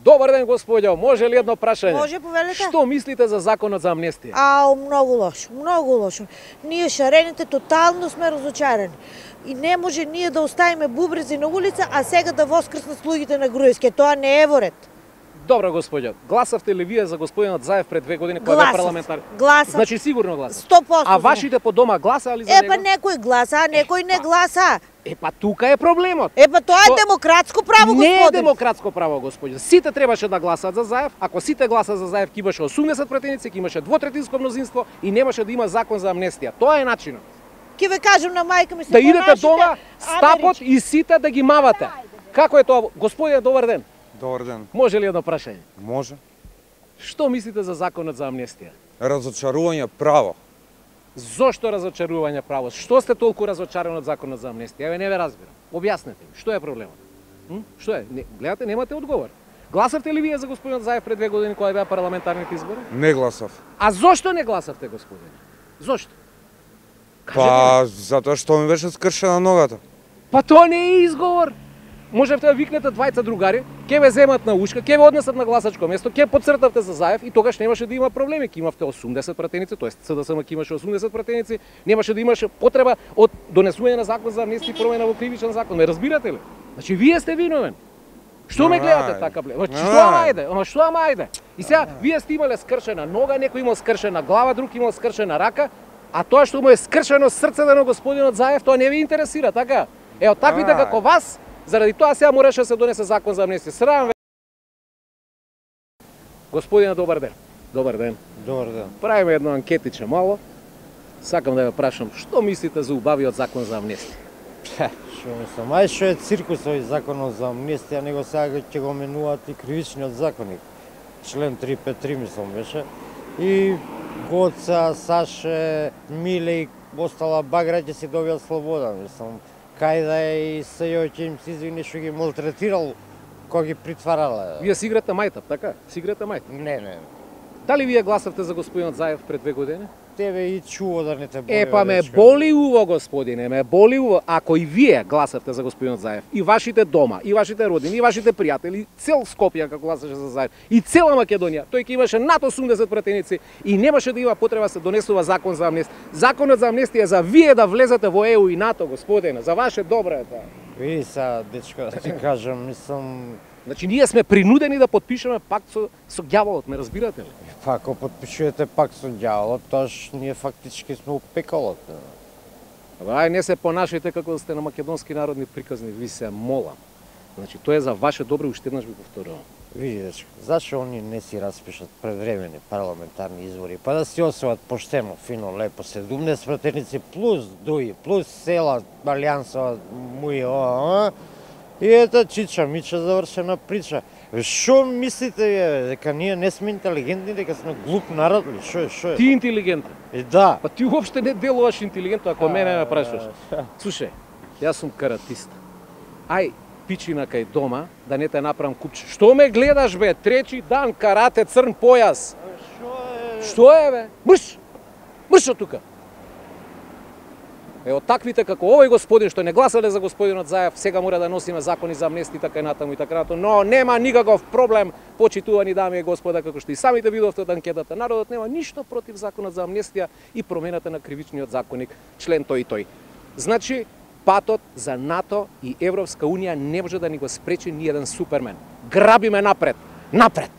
Добар ден, господјо. Може ли едно прашање? Може, повелете. Што мислите за законот за амнестија? Многу лошо, многу лошо. Ние шарените тотално сме разочарани. И не може ние да оставиме бубрези на улица, а сега да воскреснат слугите на Груевски. Тоа не е во ред. Добро, господјо. Гласавте ли вие за господинот Заев пред 2 години кога бе парламентар? Гласав. Значи сигурно гласав. 100%. А вашите по дома гласаа ли за него? Некој гласа, а некој не гласа. Тука е проблемот. Тоа е демократско право, господи. Не е демократско право, господјо. Сите требаше да гласаат за Заев. Ако сите гласаат за Заев, ќе имаше 80 пратеници, ќе имаше двотретинско мнозинство и немаше да има закон за амнестија. Тоа е начинот. Ќе ве кажам на мајка ми се да идете дома, стапот и сите да ги мавате. Како е тоа? Господине, добар ден. Добар ден. Може ли едно прашање? Може. Што мислите за законот за амнестија? Разочарување право. Зошто разочарување право? Што сте толку разочарани од законот за амнестија? Не ве разбирам. Објаснете ми, што е проблемот? Што е? Гледате, немате одговор. Гласавте ли вие за господинот Заев пред 2 години кога беа парламентарните избори? Не гласав. А зошто не гласавте, господине? Зошто? Затоа што ми беше скршена ногата. Тоа не е изговор. Можевте да викнете двајца другари, ќе ве земат на ушка, ќе ве однесат на гласачко место, ќе подцртавте за Заев и тогаш немаше да има проблеми. Ќе имавте 80 пратеници, тоест СДСМ ќе имаше 80 пратеници, немаше да имаше потреба од донесување на закон за амнестија и промена во кривичен закон. Ме разбирате ли? Значи вие сте виновен. Што ме гледате така бле? Што ајде? И сега вие сте имале скршена нога, некој имал скршена глава, друг имал скршена рака, а тоа што му е скршено срцето на господинот Заев, тоа не ви интересира, така? Таквите како вас, заради тоа сега мораше да се донесе закон за амнестија. Срам ве. Господине, добар ден. Добар ден. Добар ден. Правиме едно анкетиче мало. Сакам да ве прашам, што мислите за убавиот закон за амнестија? Што мислам, што е циркус овој законот за амнестија, него сега ќе го менуваат и кривичниот законник. Член 353 мислам беше. И Гоца, Саше, Миле и остала багра ќе си добијат слобода, мислам. Кај да е и СЈО ќе им се извини што ги малтретирал кога ги притварала. Вие си играте мајтап, така? Си играте мајтап? Не. Дали вие гласавте за господинот Заев пред 2 години? Тебе и чуво да не те боли. Ме боли уво, господине, ме боли уво. Ако и вие гласавте за господинот Заев, и вашите дома, и вашите родини, и вашите пријатели, цел Скопје како гласаше за Заев, и цела Македонија, тој ќе имаше над 80 пратеници и немаше да има потреба да се донесува закон за амнестија. Законот за амнестија е за вие да влезете во ЕУ и НАТО, господине, за ваше добро е тоа. Види сега, дечко, да ти кажам, мислам... Значи, ние сме принудени да подпишеме пакт со ѓаволот, ме разбирате ли? Ако подпишувате пакт со ѓаволот, тоаш ние фактички сме у пеколот. Не се понашајте како да сте на македонски народни приказни, ви се молам. Значи, тоа е за ваше добро, уште еднаш ви повторувам. Види, дечко, зашо они не си распишат предвремени парламентарни избори, па да си освојат поштено, фино, лепо, 17 пратеници плюс други, плюс села, Алијансова, муи, и ета чича, мича, завршена прича. Шо мислите вие, дека ние не сме интелигентни, дека сме глуп народ ли? Шо е? Ти интелигентен? Да. Па ти уопште не делуваш интелигентно, ако мене ме прашуваш. Слушај, јас сум каратист. Ај, пичина кај дома, да не те направам купче. Што ме гледаш, бе? Трети дан карате, црн појас. Што е, бе? Мрш од тука. Таквите како овој господин што не гласале за господинот Заев, сега мора да носиме закони за амнестија така и натаму, но нема никаков проблем, почитувани дами и господа, како што и самите видовте од анкетата. Народот нема ништо против законот за амнестија и промената на кривичниот законник, член тој и тој. Значи, патот за НАТО и Европска унија не може да ни го спречи ни еден супермен. Грабиме напред! Напред!